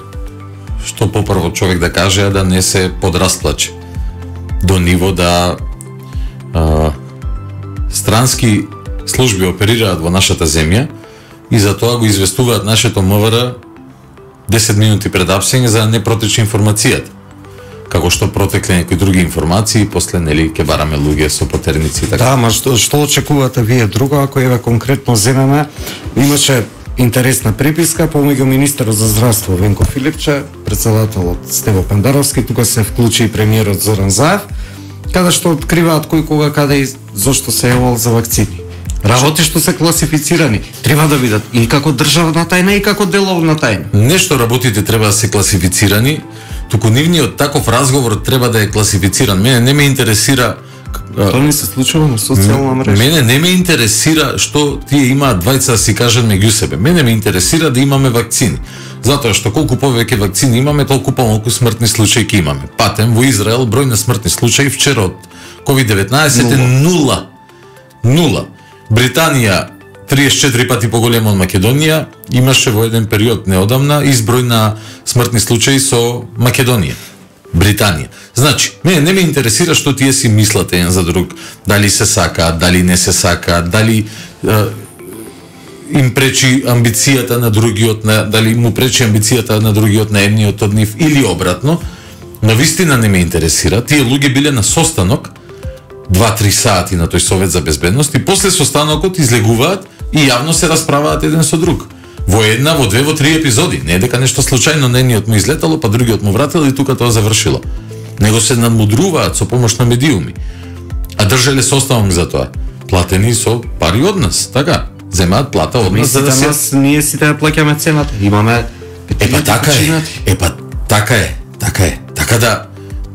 што попрво човек да каже, а да не се подрасплаче до ниво да а, странски служби оперираат во нашата земја и за тоа го известуваат нашето МВР десет минути пред апсење за да не протече информацијата. Како што протекле некои други информации, после нели ќе бараме луѓе со потерници и така.
Да, ма што, што очекувате вие друго, ако еве конкретно земеме, имаше интересна преписка помеѓу министерот за здравство Венко Филипче, председателот Стево Пендаровски, тука се вклучи и премиерот Зоран Заев, каде што откриваат кој кога каде и зошто се јавил за вакцини. Работи што се класифицирани треба да бидат и како државна тајна и како деловна тајна.
Нешто работите треба да се класифицирани, туку нивниот таков разговор треба да е класифициран. Мене не ме интересира.
Тоа не се случува на социјална мрежа.
Мене не ме интересира што тие имаат двајца да си кажат меѓу себе. Мене ме интересира да имаме вакцини. Затоа што колку повеќе вакцини имаме, толку помалку смртни случаи ќе имаме. Патем во Израел број на смртни случаи вчера од ковид деветнаесет е нула. Нула. Британија триесет и четири пати поголема од Македонија, имаше во еден период неодамна изброј на смртни случаи со Македонија. Британија. Значи, мене не ме интересира што тие си мислат еден за друг, дали се сакаат, дали не се сакаат, дали е, им пречи амбицијата на другиот, на, дали му пречи амбицијата на другиот на едниот од нив или обратно. На вистина не ме интересира. Тие луѓе биле на состанок два-три сати на тој Совет за безбедност и после состанокот излегуваат и јавно се расправаат еден со друг. Во една, во две, во три епизоди. Не е дека нешто случајно на едниот му излетало, па другиот му вратил и тука тоа завршило. Него се надмудруваат со помош на медиуми. А држеле составок за тоа. Платени со пари од нас, така? Земаат плата од нас за да се...
Нас, ние сите да плаќаме цената. Имаме...
Епа така е. Епа така е. Така е. Така да...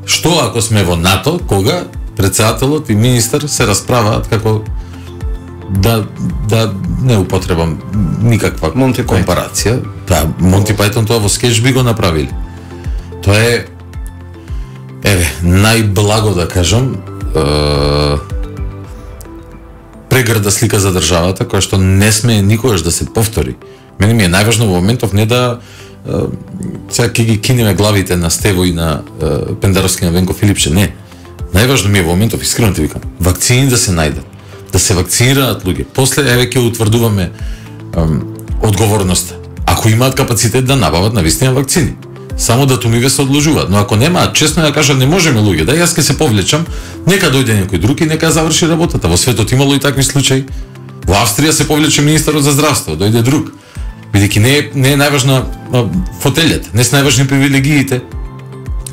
Што ако сме во НАТО, кога председателот и министер се расправаат како да да не употребам никаква
Монти
компарација. Да, Монти Пајтон тоа во скеч би го направили. Тоа е еве, најблаго да кажам, е, прегрда слика за државата која што не сме никогаш да се повтори. Мене ми е најважно во моментов не да е, сега ќе ги кинеме главите на Стево и на е, Пендаровски на Венко Филипче, не. Најважно ми е во моментов, искрено ти викам, вакцини да се најдат, да се вакцинираат луѓе. После еве ќе утврдуваме ем, одговорноста. Ако имаат капацитет да набават навистина вакцини, само датумиве се одложуваат. Но ако немаат, честно ја кажам, не можеме луѓе. Да, јас ќе се повлечам, нека дојде некој друг и нека заврши работата. Во светот имало и такви случаи. Во Австрија се повлече министерот за здравство, дојде друг. Бидејќи не е, не е најважна фотелјата, не се најважни привилегиите.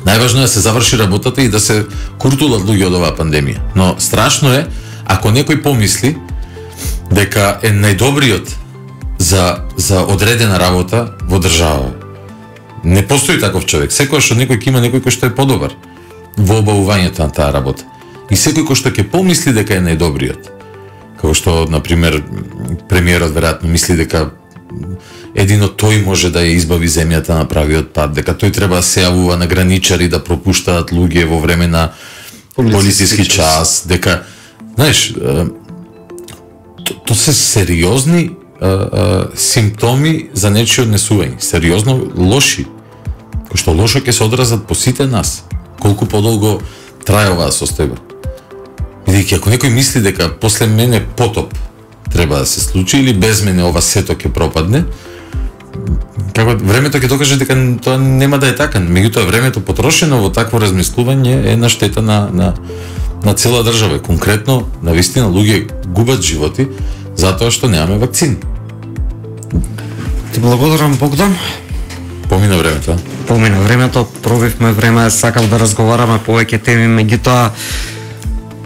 Најважно е да се заврши работата и да се куртулат луѓе од оваа пандемија. Но страшно е ако некој помисли дека е најдобриот за за одредена работа во држава. Не постои таков човек. Секогаш од некој ќе има некој кој што е подобар во обавувањето на таа работа. И секој кој што ќе помисли дека е најдобриот. Како што, на пример, премиерот веројатно мисли дека едино тој може да ја избави земјата на правиот пат, дека тој треба да се јавува на граничари да пропуштаат луѓе во време на полициски час, дека, знаеш, то, то се сериозни а, а, симптоми за нечие однесување, сериозно лоши, кои што лошо ќе се одразат по сите нас, колку подолго трае оваа состојба. Бидејќи ако некој мисли дека после мене потоп треба да се случи или без мене ова сето ќе пропадне, како времето ќе докаже дека тоа нема да е така. Меѓутоа времето потрошено во такво размислување е на штета на на на цела држава. Конкретно, навистина луѓе губат животи затоа што немаме вакцини.
Ти благодарам, Богдан.
Помина времето.
Помина времето, пробивме време, сакав да разговараме повеќе теми, меѓутоа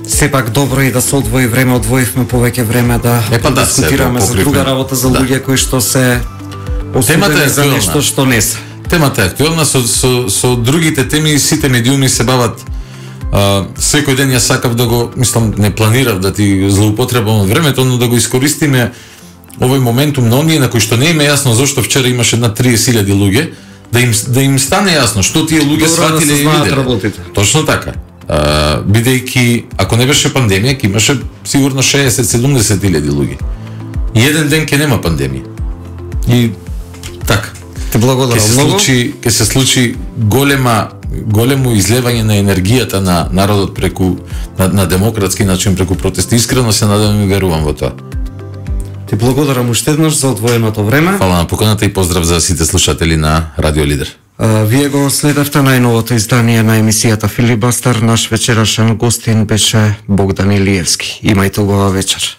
сепак добро и да се одвои време, одвоивме повеќе време да
е, па да
дискутираме
се,
за друга работа, за
да.
луѓе кои што се осудени за нешто што не се.
Темата е актуелна, со, со, со другите теми сите медиуми се бават. А, секој ден ја сакав да го, мислам, не планирав да ти злоупотребам времето, но да го искористиме овој моментум на оние на кои што не им е јасно зошто вчера имаше над триесет илјади луѓе, да им да им стане јасно што тие луѓе сватиле и виделе. Точно така. Uh, бидејќи ако не беше пандемија, ќе имаше сигурно шеесет седумдесет илјади луѓе. И еден ден ќе нема пандемија. И така.
Те благодарам
многу. Случи, ќе се случи голема големо излевање на енергијата на народот преку на, на демократски начин преку протести. Искрено се надевам и верувам во тоа.
Ти благодарам уште еднаш за одвоеното време.
Фала на поканата и поздрав за сите слушатели на Радио Лидер.
Uh, вие го следевте најновото издание на емисијата Филибастер. Наш вечерашен гостин беше Богдан Илиевски. Имајте убава вечер.